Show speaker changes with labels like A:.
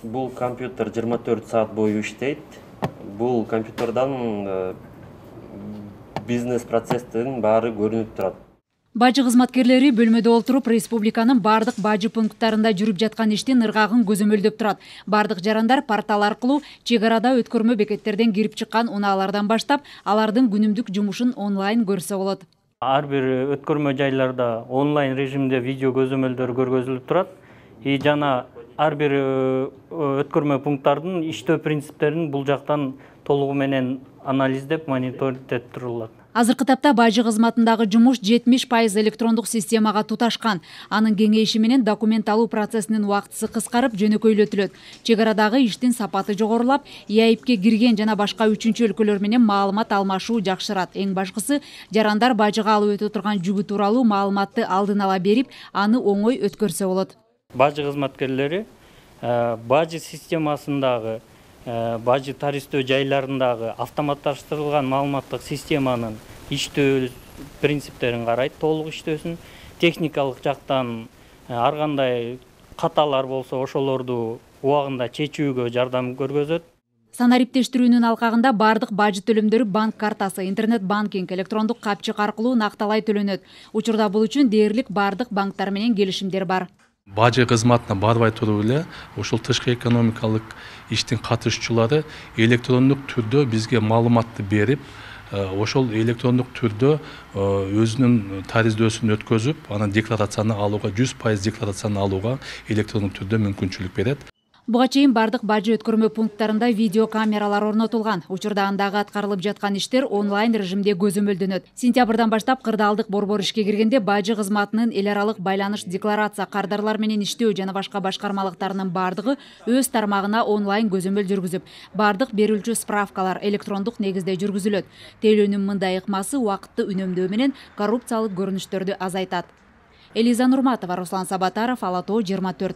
A: Бул компьютер 24 саат бою иштейт. Бул компьютердан бизнес процесстин баары көрүнүп турат.
B: Бажы кызматкерлери бөлмөдө отуруп, республиканын бардык бажы пункттарында жүрүп жаткан иштин ыргагын көзөмөлдөп турат. Бардык жарандар портал аркылуу чек арада өткөрмө бекеттерден кирип чыккан унаалардан баштап, алардын күнүмдүк жумушун онлайн көрсө болот.
C: Ар бир өткөрмө жайларда онлайн режимде видео көзөмөлдөр көргөзүлүп турат. Жана ар бир өткөрмө пункттардын иштөө принциптерин бул жактан толугу менен анализдеп, мониторингдеп турулат.
B: Азыркы тапта бажы кызматындагы жумуш 70% электрондук системага туташкан. Анын кеңейиши менен документ алуу процессинин убактысы кыскарып, жөнөкөйлөтүлөт. Чек арадагы иштин сапаты жогорулап, ИАИПке кирген жана башка үчүнчү өлкөлөр менен маалымат алмашуу жакшырат. Эң башкысы, жарандар бажыга алып өтө турган жүгү тууралуу маалыматты алдын ала берип, аны оңой өткөрсө болот.
C: Бажы кызматкерлери бажы системасындагы бажы таристөө жайларындагы автоматташтырылган маалыматтык системанын иштөө принциптерин карайт, толук иштөөсүн. Техникалык жактан ар кандай каталар болсо ошолорду убагында чечүүгө жардам көргөзөт.
B: Санариптештирүүнүн алкагында бардык бажы төлөмдөрү банк картасы, интернет банкинг, электрондук капчык аркылуу накталай төлөнөт. Учурда бул үчүн дээрлик бардык банктар менен келишимдер бар.
D: Бажы кызматына барбай туруп эле ошол тышкы экономикалык иштин катышуучулары электрондук түрдө бизге маалыматты берип, ошол электрондук түрдө өзүнүн тариздөөсүн өткөзүп, анан декларацияны алууга, 100% декларацияны алууга электрондук түрдө мүмкүнчүлүк берет.
B: Буга чейин бардык бажы өткөрмө пункттарында видео камералар орнотулган. Учурда андагы аткарылып жаткан иштер онлайн режимде көзөмөлдөнөт. Сентябрдан баштап кырдаалдык борбор ишке киргенде бажы кызматынын эл аралык байланыш, декларация, кардарлар менен иштөө жана башка башкармалыктарынын бардыгы өз тармагына онлайн көзөмөл жүргүзүп, бардык берүүчү справкалар электрондук негизде жүргүзүлөт. Тейлөөнүн мындай ыкмасы убакытты үнөмдөө менен коррупциялык көрүнүштөрдү азайтат. Элиза Нурматова, Руслан Сабатаров, Ала Тоо 24.